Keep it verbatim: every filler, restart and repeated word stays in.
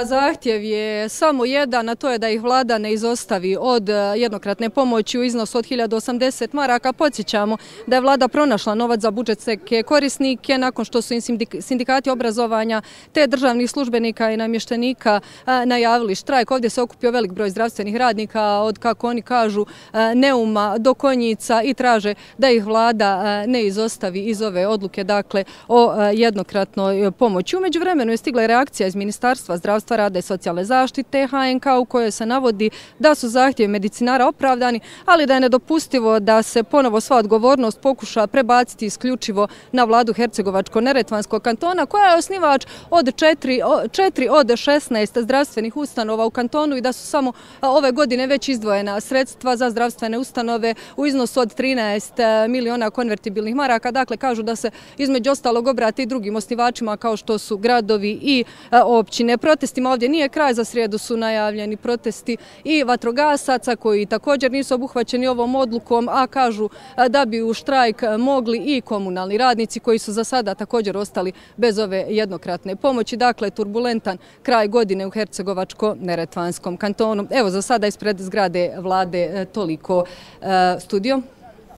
Zahtjev je samo jedan, a to je da ih vlada ne izostavi od jednokratne pomoći u iznosu od hiljadu osamdeset maraka. Podsjećamo da je vlada pronašla novac za budžetske korisnike nakon što su im sindikati obrazovanja te državnih službenika i namještenika najavili štrajk. Ovdje se okupio velik broj zdravstvenih radnika od, kako oni kažu, Neuma do Konjica i traže da ih vlada ne izostavi iz ove odluke, dakle, o jednokratnoj pomoći. U međuvremenu je stigla reakcija iz Ministarstva zdravstva, rada i socijalne zaštite H N K u kojoj se navodi da su zahtjevi medicinara opravdani, ali da je nedopustivo da se ponovo sva odgovornost pokuša prebaciti isključivo na vladu Hercegovačko-neretvanskog kantona, koja je osnivač od četiri od šesnaest zdravstvenih ustanova u kantonu i da su samo ove godine već izdvojena sredstva za zdravstvene ustanove u iznosu od trinaest miliona konvertibilnih maraka. Dakle, kažu da se između ostalog obrati i drugim osnivačima kao što su gradovi i općine. Protestima ovdje nije kraj, za srijedu su najavljeni protesti i vatrogasaca koji također nisu obuhvaćeni ovom odlukom, a kažu da bi u štrajk mogli i komunalni radnici koji su za sada također ostali bez ove jednokratne pomoći. Dakle, turbulentan kraj godine u Hercegovačko-neretvanskom kantonu. Evo, za sada ispred zgrade vlade toliko. Studio.